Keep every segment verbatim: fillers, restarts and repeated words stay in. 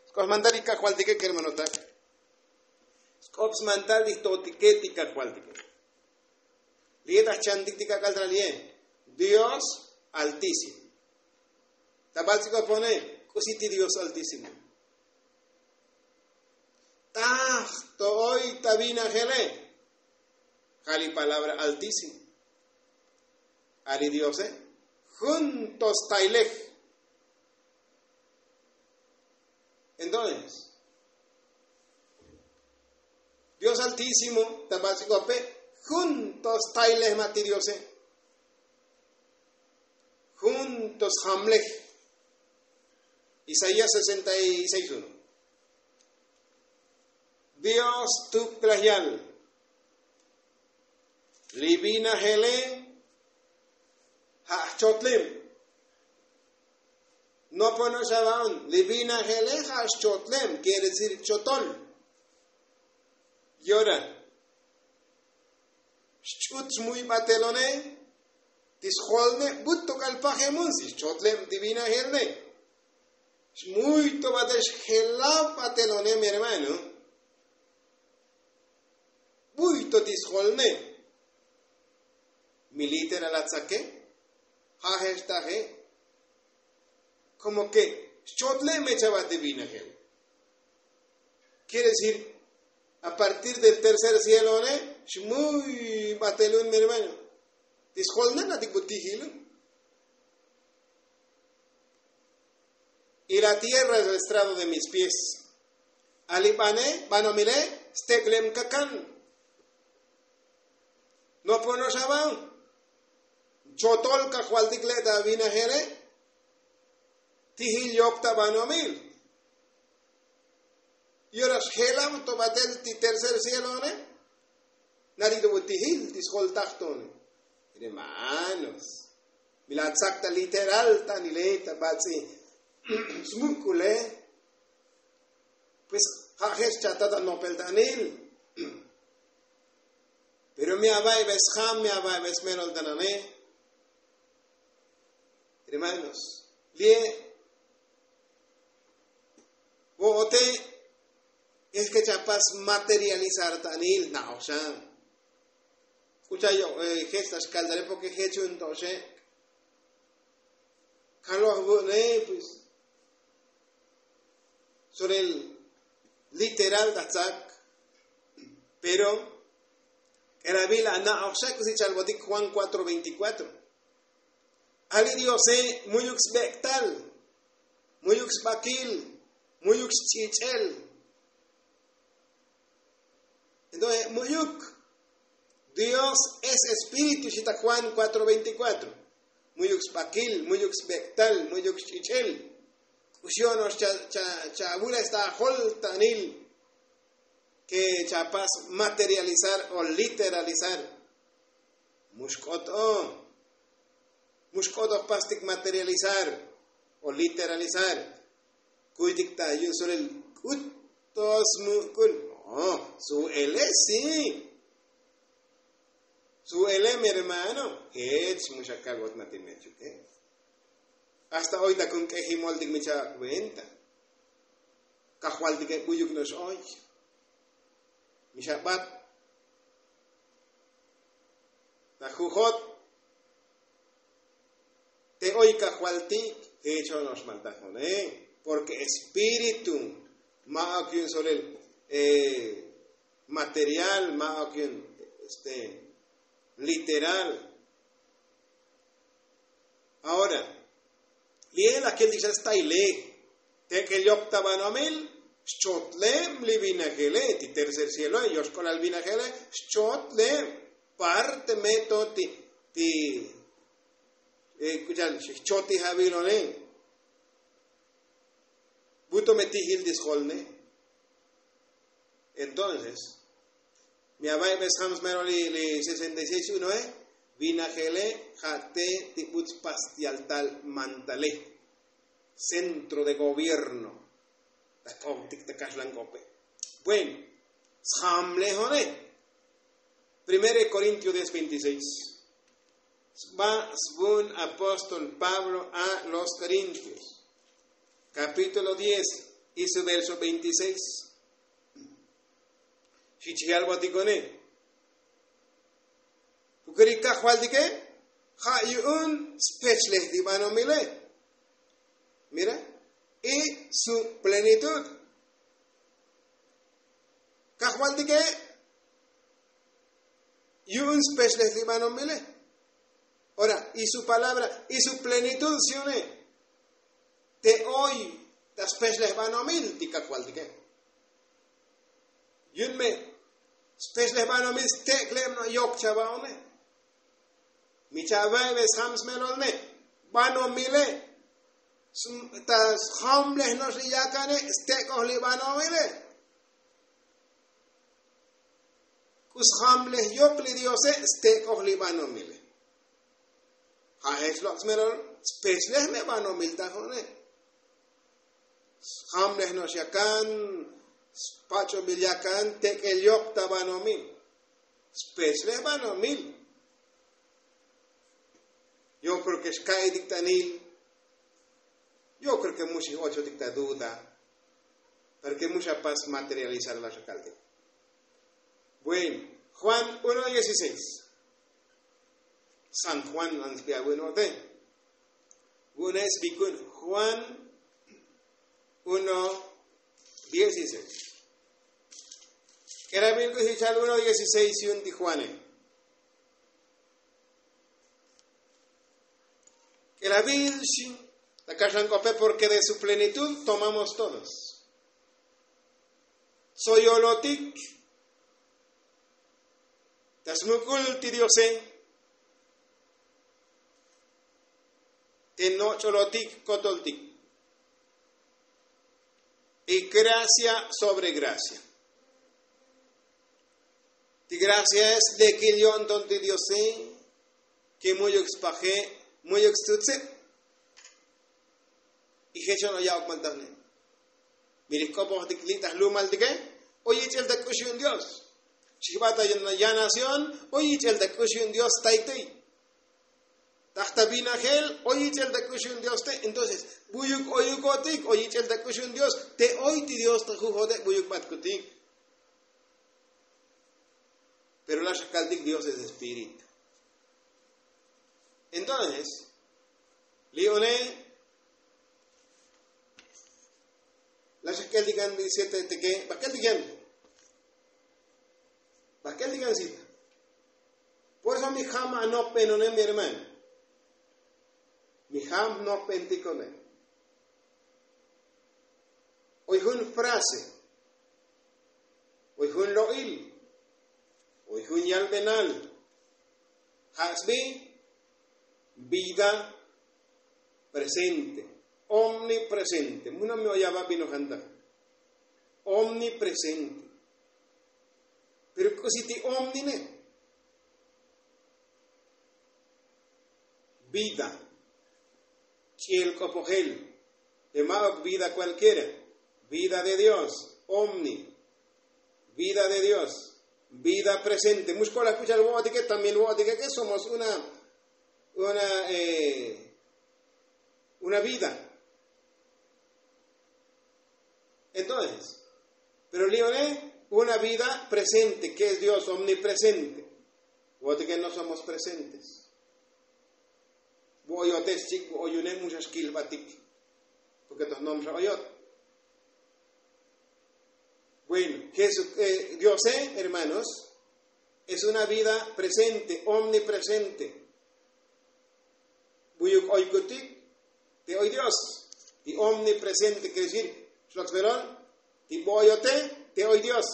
Sk'op smantal ti kajvaltike kermanotak. Sk'op smantal ti jto'otike ti kajvaltike. Li'e ta jchantik ti kak'al ta li'e dios altísimo. Ta bats'ikopone k'usi ti dios altísimo. Taj to oy ta vinajele. Ja' li palabra altísimo. A li diose jun to staylej. Entonces dios altísimo ta bats'ikope jun to staylej ma' ti diose. Jun to sjamlej. Isaías sesenta y seis uno. Dios tuklaj yal li vinajele ja' jchotlem. Noponoxavaon li vinajele ja' xchotlem quiere decir chotol. Yora xch'ut xmuybatelone ti sjolne but tok'al pajemun si xchotlem ti vinajelne. Xmuy to batel xjelab batelone mi hermano. Buy to ti sjolne. Mi literal atzake ja' jextaje. Komo ke xchotlem echaba ti vinajel. Quiere decir a partir del tercer cielone xmuy batelun mi hermano. Ti sjolne natik butijilun. Y la tierra es el estrado de mis pies. Ali bane banomile steklem kakan. Noponoxaban chotol kajvaltik le' ta vinajele. Tijil yok ta banomil. Y ora xjelab to batel ti tercer cielone. Nali to butijil ti sjoltaj tone. Hermanos, mi la tzak ta literal ta nile ta bats'i smuk'ule. Pues ja' jech chata ta nopel ta anil. Pero mi ava'ibe sjam mi ava'ibe smelol ta nane. Hermanos, lie vo'ote es ke chapas materializar ta anil na'oxan. K'ucha' yo' jech ta xkaltale porke jech un to'oxe. Kaloj vu'ne pues. Sobre el literal ta tzak. Pero k'eravil ana'oxak si chalbotik juan cuatro veinticuatro. Ali diose mu'yuk sbek'tal, mu'yuk sbakil, mu'yuk sch'ich'el. Entonces mu'yuk dios es espíritu xita juan cuatro veinticuatro. Mu'yuk sbakil, mu'yuk sbek'tal, mu'yuk sch'ich'el. K'uxi ono'ox chavules ta ajol ta anil ke chapas materializar o literalizar. Mu xk'ot o mu xk'ot o jpastik materializar o literalizar. Kuytik ta yu' sulil k'ut to smuk'ul. Su'ele si. Su'ele mi hermano jech mu xakalbot matilmechuke. Hasta oy ta kun k'ejimoltik mi cha'ak venta. Kajvaltike buyuk no'ox oy. Mi xabat ta jujot. Te oy kajvaltik jech ono'ox maltajone. Porke espíritu ma'ok yu'un solel material ma'ok yu'un este literal. Ahora li'e la kiltik xa staile. Tek'el yok ta banomil xchotlem li vinajele ti tercer cieloe yoxk'olal vinajele. Xchotlem parte me to ti ti k'uchal xijchotij avilone. Buto me tijil ti sjolne. Entonces mi ava'ibe sjam smero li sesenta y seis unoe. Vinajele ja' te ti buts pastial tal mantale. Centro de gobierno. Ta k'optik ta kaxlan k'ope. Bueno, sjamlejone. Primero de korintio diez veintiseis. Sba svun apóstol pablo a los korintios, kapítulo diez. Y su verso veintiséis. Xi chijal botikone. Pukuri kajvaltike ja' yu'un spechlej ti banomile. Mira. Y su plenitud. Kajvaltike yu'un spechlej ti banomile. Ora y su palabra y su plenitud si une. Te oy ta spechlej banomil ti kajvaltike. Yu'un me spechlej banomil stek'leb no yok chava'one. Mi cha've ve sjam smelolne banomile. Ta sjamlej no'ox li yakane stek'oj li banomile. K'u sjamlej yok li diose stek'oj li banomile. Ja' jech lok' smelol spechlej me banomil ta jo'one. Sjamlej no'ox yakan spach'obil yakan tek'el yok ta banomil. Spechlej banomil. Yo kreo ke xka'itik tanil. Yo kreo ke mu xij ochotik ta duda. Pero ke mu xapas materializar la xakaltik. Bueno. Juan uno dieciséis. San juan ansbi abuenote. Vu'une' sbikun juan uno dieciséis. K'elabil k'u xichal uno dieciséis yu'un ti juane. K'elabil xi ta kaxlan k'ope porque de su plenitud tomamos todos. Soyolotik ta smuk'ul ti diose. Te noch'olotik kotoltik y gracia sobre gracia. Ti gracia es lekil yo'nton ti diose. Ke mu'yuk spaje mu'yuk stutse. Y jechon o ya'ok maltajne. Miri k'opojtik li' ta jlumaltike. O yich'el ta k'ux yu'un dios. Chijba ta yanación o yich'el ta k'ux yu'un dios tayktiy. Taj ta vinajel o yich'el ta k'ux yu'un dios te. Entonces bu'yuk oyukotik o yich'el ta k'ux yu'un dios te oy ti dios ta jujode bu'yuk batkutik. Pero la xakaltik dios es espíritu. Entonces li' one la xak'el tikan disete teke bak'el tikan. Bak'el tikan sita. Por eso mi jam anokbenonem mi hermano. Mi jam nokbentikone. Oy jun frase. Oy jun lo'il. Oy jun yalbenal. Ja' sbi vida presente. Omnipresente muno mi oyaba binojantaj. Omnipresente. Pero k'usi ti omnine. Vida. Ch'iel k'opojel. Te ma'ok vida kualkiera. Vida de dios. Omni. Vida de dios. Vida presente mux kolaj k'uchal vo'otike también vo'otike ke somos una una una vida. Entonces pero li' one una vida presente ke es dios omnipresente. Vo'otike no somos presentes. Vo'oyote xchik vo'oyune mu xa xkilbatik. Porke toj nom xa oyot. Bueno, diose hermanos, es una vida presente omnipresente. Bu'yuk oykutik te oy dios. Ti omnipresente kere decir xlok smelol ti vo'oyote te oy dios.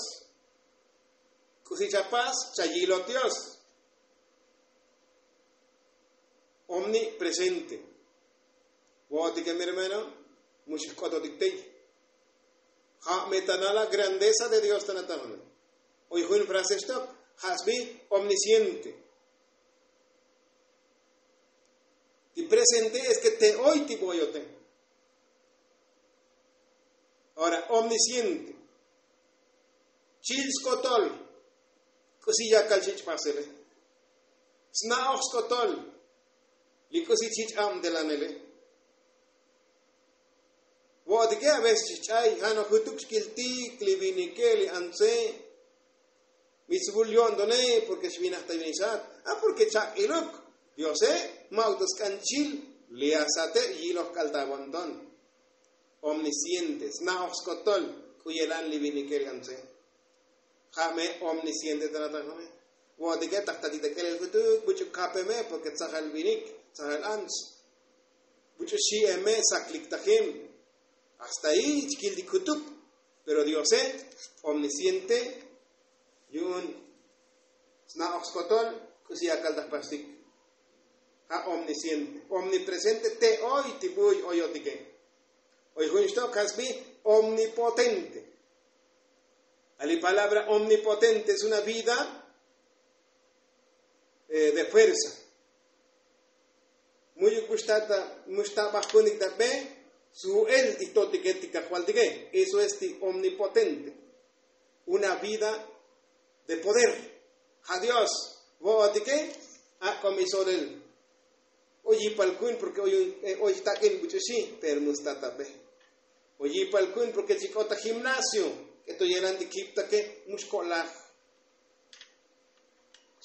K'usi chapas chayilot dios. Omnipresente. Vo'otike mi hermano. Mu xijk'ototik tey. Ja' me ta nala grandeza de dios ta natajone. Oy jun frase xtok ja' sbi omnisiente. Ti presente es ke te oy ti vo'oyote. Ora omnisiente. Chil skotol. K'usi yakal chich' pasele. Sna'oj skotol. Li k'usi chich' abtelanele. Bo'otike a veces ch'ay ja' nojutuk xkiltik li vinike li antse. Mi svul yo'ntone porke xvinaj ta vin ixat a porke chak'iluk. Diose ma'uk ta sk'anchil li asate yiloj k'al ta vonton. Omnisciente sna'oj skotol k'u yelan li vinike li antse. Ja' me omnisciente ta nata' ja' me. Vo'otike taj tatik ta k'elel jutuk buch'u kape me porke tzajal vinik, tzajal ants. Buch'u xi'e me saklik tajin. Hasta ahi chkiltik jutuk. Pero diose omnisciente yu'un sna'oj skotol. K'usi akal ta jpastik. Ja' omnisciente omnipresente te oy ti buy oyotike. Oy jun xtok ja' sbi omnipotente. A li palabra omnipotente es una vida de fuerza. Mu'yuk mux ta bajkunik ta be su'el ti totike ti kajvaltike. Eso es ti omnipotente. Una vida de poder. Ja' dios vo'otike. Ak'o mi solel. Oy yipal ku'un porke oy jtak'in buch'uxi pero mux ta ta be. Oy yipal ku'un porke chik'ot ta gimnasio k'eto yelan ti kiptake mux ko'laj.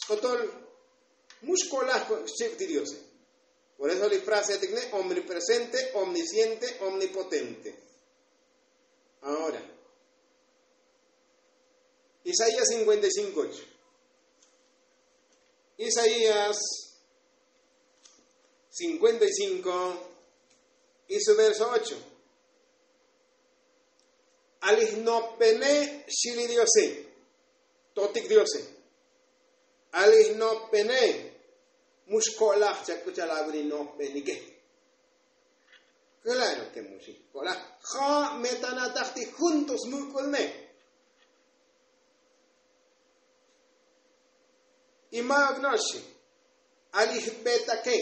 Skotol mux ko'laj xchib ti diose. Por eso li frase atikne omnipresente, omnisciente, omnipotente. Ahora isaías cincuenta y cinco ocho. Isaías cincuenta y cinco y su verso ocho. Ali jnopbene xili diose. Totik diose. Ali jnopbene. Mux ko'laj chak'u chal avili nopbenike. Klaro ke mux ko'laj. Ja' me ta nataj ti jun to smuk'ulne. Y ma'uk no'ox xi. Ali jbetake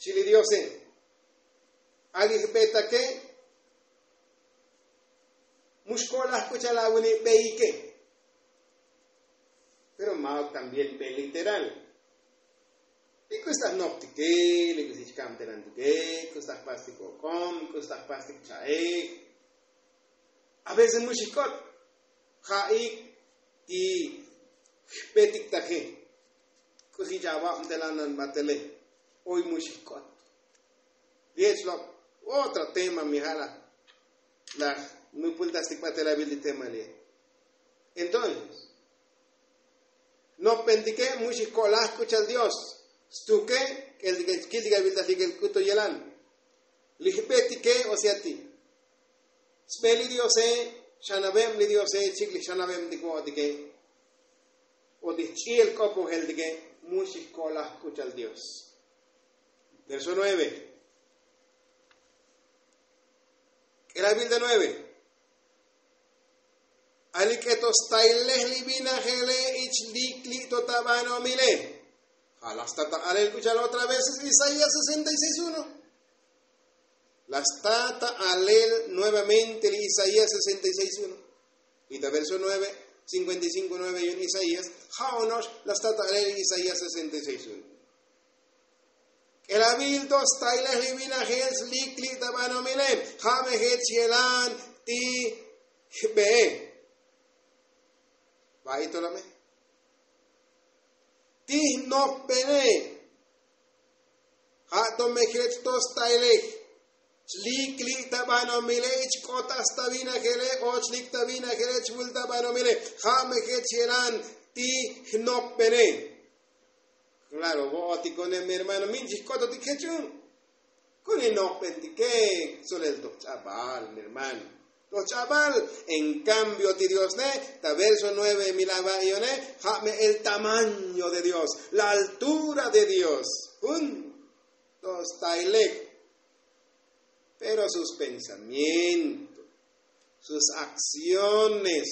xili diose. Ali jbetake. Mux ko'laj k'u chal avili beyike. Pero ma'uk también be literal. Li k'u sta jnoptike, li k'u sta jkabtelantuke, k'u sta jpastik ok'om, k'u sta jpastik cha'ej. A veces mux ijk'ot. Ja'ik ti jbetik taje. K'usi chavabtelanan batele. Oy mux ijk'ot. Li ech lok' otra tema mi ja' laj laj nupultastik batelabil li tema li. Entonces nopbentike mux ijko'laj k'u chal dios. Stuke k'eltike chkiltik aviltaj li k'el k'u to yelan. Li jbetike o sea ti sbe li diose. Xanabeb li diose chik li xanabeb ti vo'otike. O ti jch'i'el k'opojeltike. Mux ijko'laj k'u chal dios. Verso nueve. K'elabil ta nueve. Ali k'eto stailej li vinajele ich lik li' to ta banomile. Ja' la sta ta alel k'u chal otra vez isaías sesenta y seis uno. La sta ta alel nuevamente li isaías sesenta y seis uno. Y ta verso nueve cincuenta y cinco nueve yu'un isaías. Ja' ono'ox la sta ta alel isaías sesenta y seis uno. K'elabil to stailej li vinajel slik li' ta banomile. Ja' me jech yelan ti jbe'e. Ba'i to la me ti jnopbene. Ja' to me jech to stailej slik li' ta banomile. Chk'ot ta sta vinajele och lik ta vinajele chvul ta banomile. Ja' me jech yelan ti jnopbene. Klaro vo'otikone mi hermano min chijk'ototik jech un. Kuni nojbentike. Solel toj ch'abal mi hermano. Toj ch'abal. En kambio ti diosne ta verso nueve mi lava'ione. Ja' me el tamaño de dios, la altura de dios. Jun to stailej. Pero sus pensamientos, sus akciones,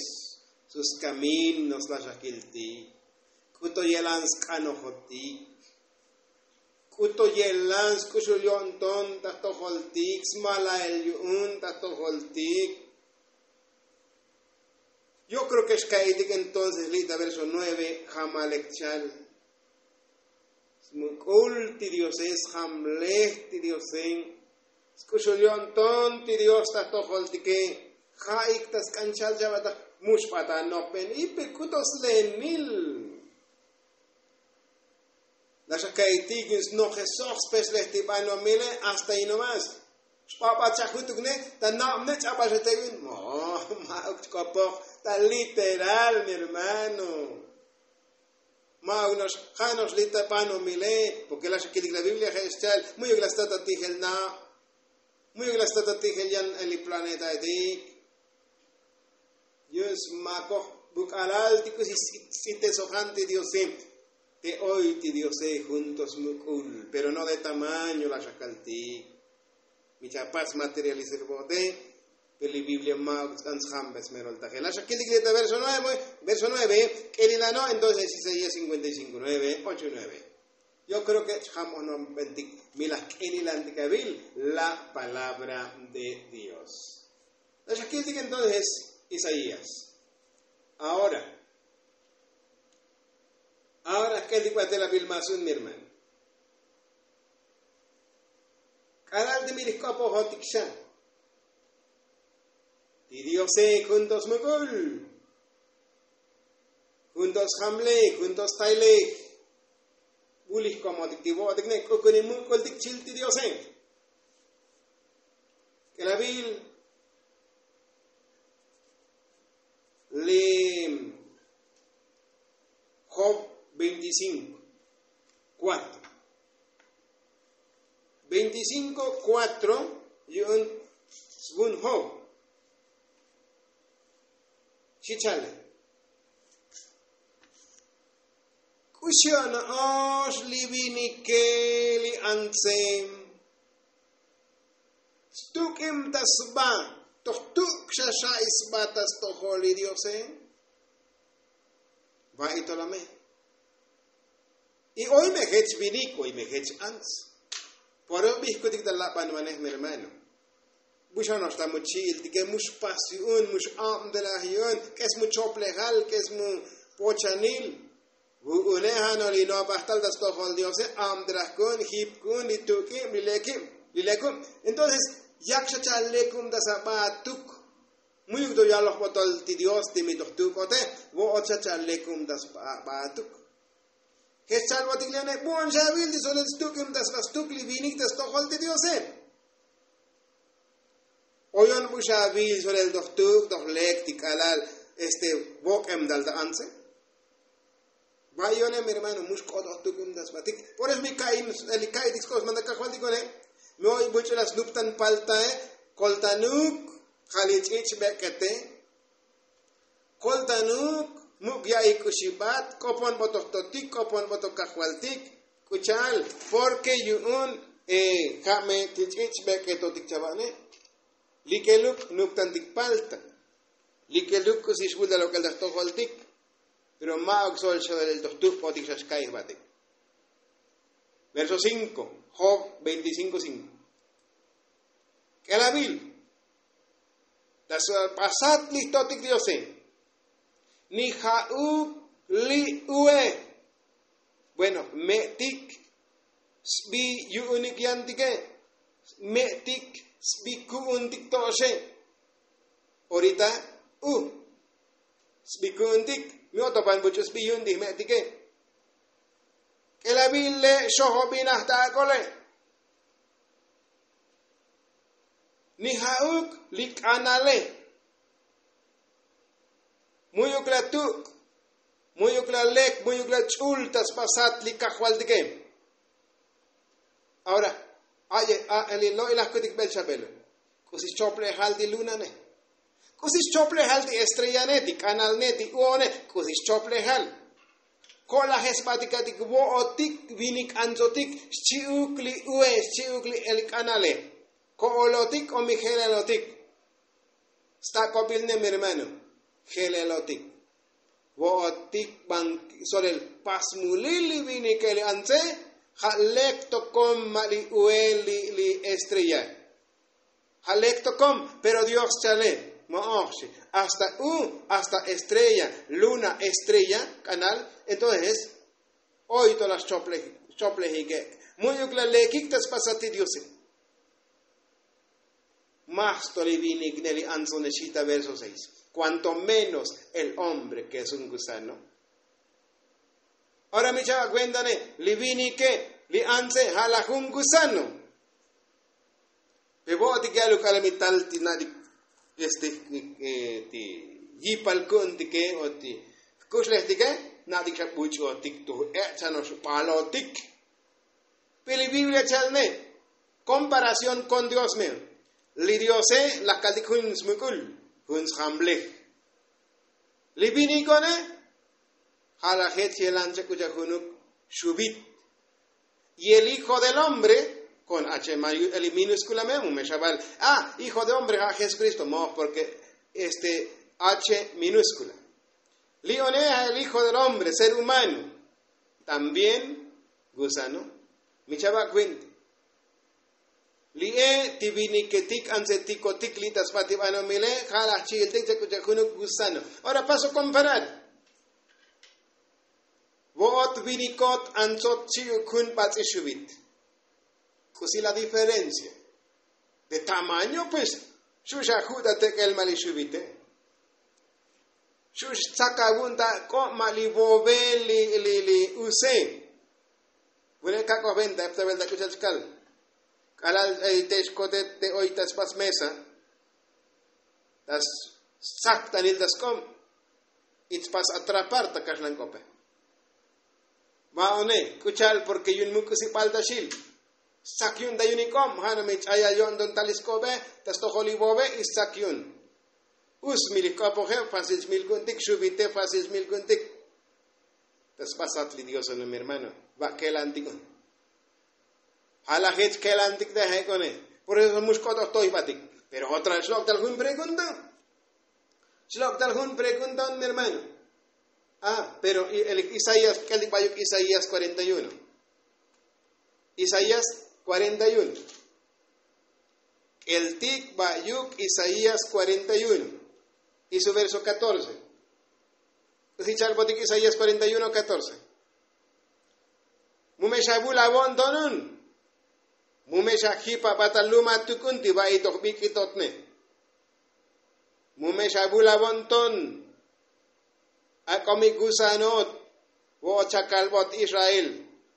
sus kaminos laj xa kiltik. K'u to yelan sk'anojotik. K'u to yelan sk'uxul yo'nton ta jtojoltik smala'el yu'un ta jtojoltik. Yo kreo ke xka'itik entonces li' ta verso nueve. Jamalek chal smuk'ul ti diose sjamlej ti diose. Sk'uxul yo'nton ti dios ta jtojoltike. Ja'ik ta sk'anchal chab'ataj. Muxb'at anopben ipe k'uto slenil. La xa ka'iytik yu'un snojesoj spexlej ti banomile. Hasta yin nomas xb'ab'at xa jutuk ne ta nab'ne ch'ab'ax ete yu'un. Ma'uk chk'opoj ta literal mi hermano. Ma'uk no'ox ja' no'ox li' ta banomile. Porke la xa kiltik la biblia je' xcha'el mu'yuk la stat ta tijel nab'. Mu'yuk la stat ta tijel yan li planetaetik. Yu'un smakoj buk'alal ti k'usi sts'itesojan ti diose. Te oy ti diose jun to smuk'ul pero no de tamaño la xa kaltik. Mi chapach smaterializar bo'ote. Pero li biblia ma'uk ts'an sjambes meroltaje la xa kiltik li' ta verso nueve. K'elilano entonces isaías cinkuenta y cinko nueve ocho y nueve. Yo kreo ke chjam onobbentik mi laj k'elilantik avil la palabra de dios. La xa kiltik entonces isaías. Ahora ahora jk'eltik b'atel avil mas un mi hermano. K'alal ti mi lij k'opojotik xa ti diose jun to smuk'ul. Jun to sjamlej jun to staylej. B'ulij komotik ti bo'otik ne k'ukuni muk'ultik chil ti diose. K'elabil li job veinticinko kuatro. Veinticinko kuatro yu'un svun job. Xi chale. K'uxi o'no'ox li vinike li antse stuk'im ta sba toj tuk' xa xa'i sba ta stojol li diose. Va'i tolame. Y oy me jech vinik oy me jech ants. Por eso bijkutik ta labanvanej mi hermano. Buxanox ta mu chi'iltike mu xpas yu'un mu x'abdelaj yu'un k'es mu choplejal k'es mu pochanil. Vu'une' ja' no' li no'bajtal ta stojol diose abdelaj ku'un jip ku'un li tuk'ib li lekib li lekub. Entonces yak xa cha' lekub ta saba atuk. Mu'yuk to yaloj botol ti dios ti mi toj tuk'ote. Vo'ot xa cha' lekub ta saba atuk. Jech cha'al botik li one' bu'on xa avil ti solel stuk'ib ta sba stuk li vinik ta stojol ti diose. Oyon bu xa avil solel toj tuk' toj lek ti k'alal este vok'em tal ta antse. Va'iyone' mi hermano mu xk'ot toj tuk'ib ta sbatik. Por eso mi ka'iy li ka'iy ti sk'ot sman ta kajvaltik one'. Mi oy buch'u la snuptan paltae. Koltanuk ja' li ch'ich' bek'ete. Koltanuk muk' ya'i k'uxib'at k'opon b'otoj totik k'opon b'otoj kajvaltik. K'u cha'al porke yu'un ja' me ti ch'ich' bek'etotik chava'ne. Likeluk nuptantik palta. Likeluk k'usi xb'ul ta lok'el ta jtojoltik. Pero ma'uk sol xolel toj tuk'otik xa xka'i jb'atik. Verso cinko job veinticinko cinko. K'elavil ta sba sat li jtotik diose. Ni ja'uk li ue. Bueno me'tik sbi yu'unik yantike. Me'tik sbi ku'untik to'oxe. Orita u sbi ku'untik. Mi otopan buch'u sbi yu'un ti jme'tike. K'elavil le' xojobinaj ta ak'ole. Ni ja'uk li k'anale. Mu'yuk la tuk' mu'yuk la lek mu'yuk la ch'ul ta sba sat li kajvaltike. Ahora aye a li lo'ilaj kutik bel xa belu. K'usi xchoplejal ti lunane? K'usi xchoplejal ti estrellane ti k'analne ti u'one? K'usi xchoplejal? Ko'lajes sbatik atik vo'otik vinik antsotik xchi'uk li ue xchi'uk li k'anale. Ko'olotik o mi je'lelotik? Stak'obil ne mi hermano. Je'lelotik vo'otik ban solel pasmulil li vinike li antse. Ja' lek tokom ma' li uel li estrella. Ja' lek tokom pero dios chale. Mo'oj xi hasta u hasta estrella luna estrella k'anal. Entonces oy to la xchoplejik ek' mu'yuk la lekik ta sba sat ti diose. Maj to li vinik ne li antzo ne xita verso seis, kuanto menos el hombre ke es un gusano. Ora mi chava' kuenta ne li vinike li antze ja' laj un gusano. Pe vo'otik ya'al uk'al mi tal ti na'tik este ti yipal ku'untike o ti jkuxlejtike, na'tik xa buch'otik tu j'e' chanox balotik. Pe li biblia cha'al ne komparación kon dios me. Li diose laj kaltik jun smuk'ul, jun sjamblej. Li viniko'ne ja' laj jech yelan chak'ucha' junuk xubit. Y el hijo del hombre kon h minúskula me mu me xabal. Ah, hijo de hombre ja' jesukristo moj porke este h minúskula. Li one ja' el hijo del hombre ser humano también gusano. Mi chava' kuenta li e ti viniketik antzetikotik li' ta sba ti banomile ja' laj chi'iltik chak'ucha' junuk gusano. Ora paso komparar vo'ot vinikot antzot chi'uk jun bats'i xubit. K'usi la diferencia de tamaño pues. Xu' xa ju' ta tek'el ma' li xubite. Xu' xtzak avun ta k'ob ma' li vove li li li use. Vune' kak'oj venta epta velta k'uchal chkal k'alal te xkotet te oy ta spas mesa ta stzaktanil ta sk'ob. Y tspas atrapar ta kaxlan k'ope. Va'one k'uchal porke yun muk'usibal ta xil. Stzak yu'un ta yu'un ik'ob ja' no mi ch'ayal yo'nton tal isk'obe ta stojol ivove y stzak yu'un. Us mi li jk'opoje fácil xmil ku'untik xubite fácil xmil ku'untik. Ta sbasat li dios no mi hermano. Va' kelantik un ja' laj jech kelantik ta jek'one. Por eso mu xk'otoj toybatik. Pero otra xlok' tal jun pregunta. Xlok' tal jun pregunta un mi hermano. Ah pero isaías k'eltik bayuk isaías cuarenta y uno. Isaías cuarenta y uno. K'eltik bayuk isaías cuarenta y uno y su verso catorce. K'usi chalbotik isaías cuarenta y uno catorce. Mu me xa vul avo'ntonun. Mu me xa jip abatal luma tuk'un ti va'i toj bik'itotne. Mu me xa vul avo'nton. Ak'o mi gusanot vo'ot xa kalbot israel.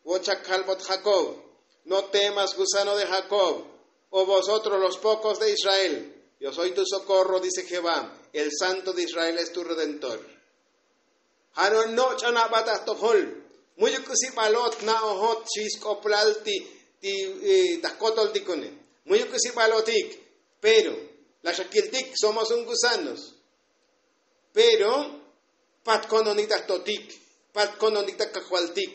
Vo'ot xa kalbot jakob. No temas gusano de jakob. O vosotros los pokos de israel. Yo soy tu sokorro dice jehová, el santo de israel es tu redentor. Ja' no' noch'on aba ta jtojol. Mu'yuk k'usi balot na'ojot xi sk'oplal ti ti ta jkotol ti kone. Mu'yuk k'usi balotik. Pero la xakiltik somos un gusanos. Pero pat kononik ta jtotik. Pat kononik ta kajvaltik.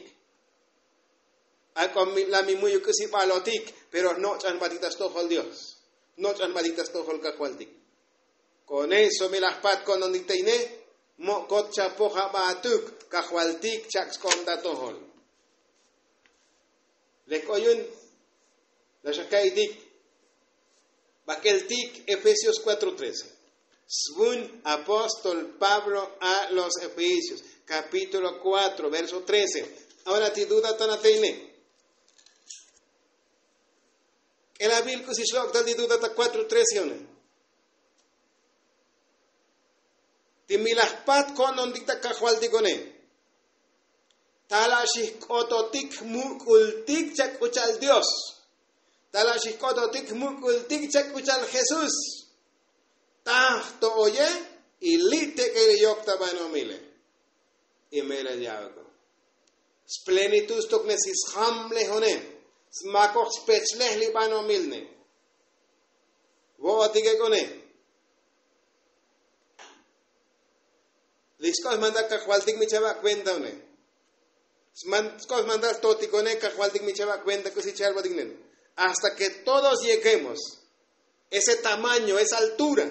Ak'o la mi mu'yuk k'usi balotik. Pero jnoch'an batik ta stojol dios. Jnoch'an batik ta stojol kajvaltik. Kone so mi laj pat kononik ta ine. Mo'kot chapoj aba atuk kajvaltik chak' sk'on ta tojol. Lek k'o yu'un. La xaka'itik. Bak'eltik efesios cuatro trece. Svun apóstol pablo a los efesios, kapítulo cuatro verso trece. Ahora ti duda tana te ine. K'elabil k'usi xlok' tal ti duda ta cuatro trece one. Ti mi laj jpat ko'ntontik ta kajvaltik one. Tala' xijk'ototik jmuk'ultik chak k'uchal dios. Tala' xijk'ototik jmuk'ultik chak k'uchal jesús. Taj to oye. Y li' tek'el yok ta banomile. Y melel ya'oko splenitud stok ne si sjamlej one. Smakoj speslej li banomilne. Vo'otik ek' one. Li sk'ox mandar kajvaltik mi chava' kuenta one. Sk'ox mandar totik one kajvaltik mi chava' kuenta k'usi chalbotik nen. Hasta ke todos yeguemos ese tamaño esa altura.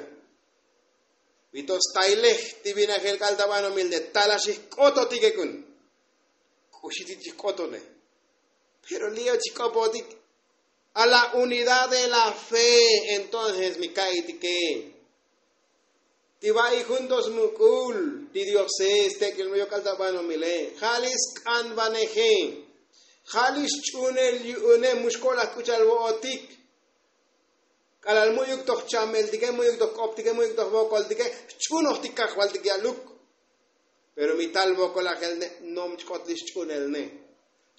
Vito stailej ti vinajel k'al ta banomil de tala xijk'ototik ek' un. K'uxi ti chijk'otone. Pero li' o chijk'opotik. A la unidad de la fe. Entonces mi ka'itike ti va'i jun to smuk'ul ti diose stek'il mu yok'al ta banomile ja' li sk'anvaneje. Ja' li xch'unel yu'une mu xko'laj k'uchal vo'otik. K'alal mu'yuk toj chameltike, mu'yuk toj k'optike, mu'yuk toj vokoltike, xch'unojtik kajvaltik ya'luk. Pero mi tal vokolajel ne, nom chk'ot li xch'unel ne.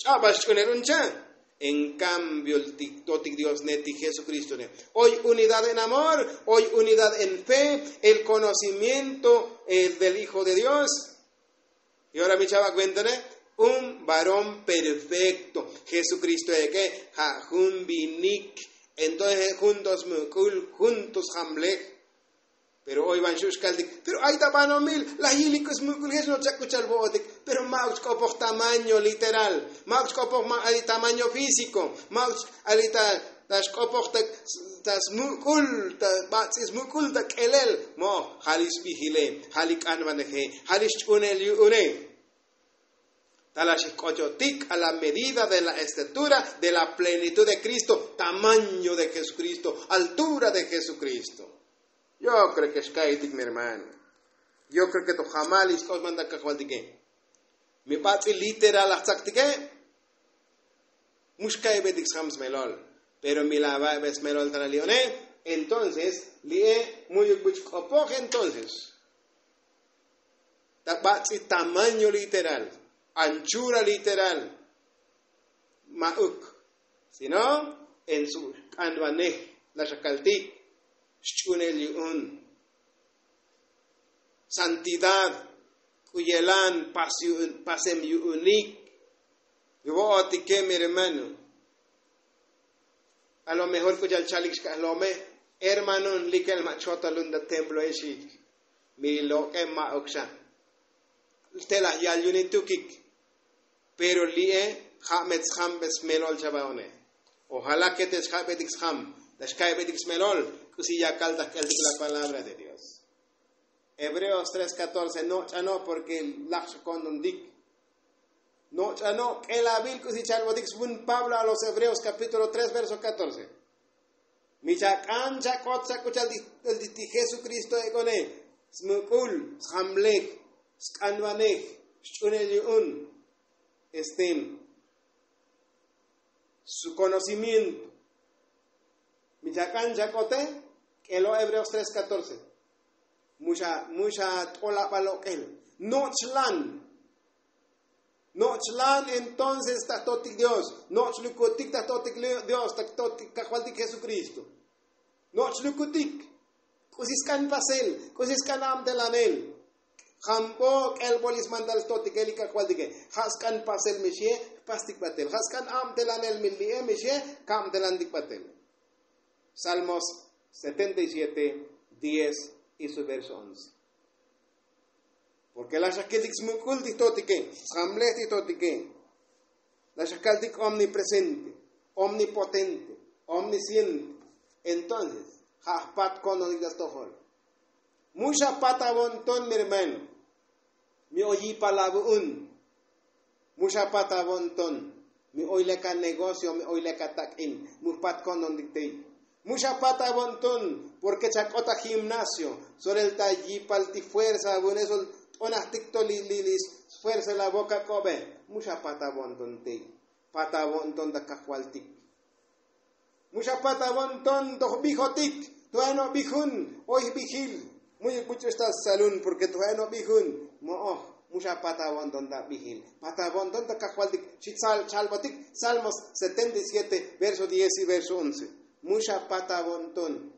Ch'abal xch'unel un cha'. En kambio, totik dios ne ti jesukristo ne, oy unidad en amor, oy unidad en fe, el konocimiento del hijo de dios. Y ora mi chava' kuenta ne, un varón perfekto. Jesukristo ek'e ja' jun vinik. Entonces juntos muk'ul, juntos jamlej. Pero oy van xu' xkaltik, pero ay ta banomil laj yilik k'u smuk'ul jech no chak k'u chal vo'otik. Pero ma'uk chk'opoj tamaño literal, ma'uk chk'opoj ma' ali tamaño físiko, ma'uk ali ta xk'opoj ta smuk'ul, ta bats'i smuk'ul ta k'elel. Mo'oj ja' li xvijile, ja' li k'anvaneje, ja' li xch'unel yu'une. Ta la xijk'ochotik a la medida de la estatura de la plenitud de kristo, tamaño de jesukristo, altura de jesukristo. Yo kreo ke xka'itik mi hermano. Yo kreo ke to jamal ixk'oxman ta kajvaltike. Mi bats'il literal laj tzaktike. Mu xka'ibetik sjam smelol. Pero mi lava'ibe smelol ta la li'one. Entonces li'e mu'yuk buch k'opoj entonces. Ta bats'i tamaño literal, anchura literal, ma'uk sino en su k'anvanej. La xakaltik xch'unel yu'un santidad, k'u yelan pasem yu'unik. Vo'otike mi hermano. A lo mejor k'u chal chalik xkaj lome, hermano, likel ma' chotalun ta templo exik. Mi lok'e ma'uk xa. Te laj yal yuni tukik. Pero li'e ja' me tsjambe smelol chava'one. Ojala ke te xjabetik sjam, ta xka'ibetik smelol, k'usi yakal ta jk'eltik la palabra de dios. Hebreos tres catorce, noch'a no' porke laj xakontontik. Noch'a no' k'elavil k'usi chalbotik svun pablo a los hebreos kapítulo tres verso catorce. Mi chak'an chak'ot chak'u chal ti jesukristo ek'one, smuk'ul, sjamlej, sk'anvanej, xch'unel yu'un, este su konocimiento. Mi chak'an chak'ote, k'elo hebreos tres catorce. Mu xa t'olabal ok'el, nochlan. Nochlan entonces ta jtotik dios, nochlukutik ta jtotik dios, ta jtotik kajvaltik jesukristo. Nochlukutik. K'usi sk'an pasel, k'usi sk'an abtelanel. Jambo k'elbol ismantal jtotike li kajvaltike. Ja' sk'an pasel mi xie, jpastik batel. Ja' sk'an abtelanel mi li'e mi xie, kabtelantik batel. Salmos setenta y siete, diez y su verso once. Porke laj xakiltik smuk'ul ti jtotike, sjamlej ti jtotike. Laj xakaltik omnipresente, omnipotente, omnisciente. Entonces ja' jpat kononik ta stojol. Mu xapat avo'nton mi hermano. Mi oy yipal avu'un. Mu xapat avo'nton. Mi oy lek anegocio, mi oy lek atak'in. Mu jpat ko'ntontik tey. Mu xapat avo'nton. Porke chak'ot agimnasio, solel ta yipal ti fuerza avu'une sol t'onajtik to li li sfuerza la vok ak'obe. Mu xapat avo'nton tey. Pat avo'nton ta kajvaltik. Mu xapat avo'nton toj vijotik. To'eno' vijun, oy jvijil. Mu'yuk buch'ux ta salun porke to'eno' vijun. Mo'oj. Mu xapat avo'nton ta vijil, pat avo'nton ta kajvaltik. Xi chalbotik salmos setenta y siete, verso diez y verso once. Mu xapat avo'nton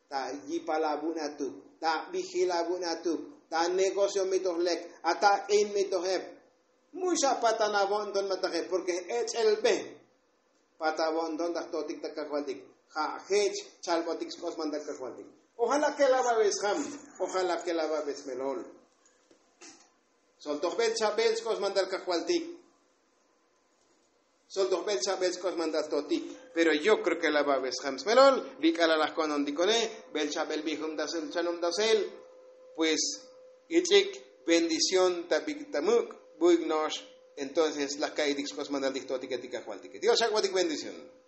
ta yipal avu'un atuk, ta vijil avu'un atuk, ta negocio mi toj lek, atak'in mi toj ep. Mu xapat anavo'nton mataje porke j'ech'elbe. Pat avo'nton ta jtotik ta kajvaltik. Ja' jech chalbotik sk'osman ta kajvaltik. Ojala ke lavabe sjam, ojala ke lavabe smelol. Sol toj bel chabel sk'osman ta kajvaltik. Sol toj bel chabel sk'osman ta jtotik. Pero yo kreo ke lavabe sjam smelol. Li k'alal laj ko'ntontikone, bel chabel vijum ta sel chanom ta sel. Pues ich'ik bendición ta bik ta muk', buik no'ox. Entonces laj ka'itik sk'osman ta li jtotike ti kajvaltike. Dios xak'botik bendición.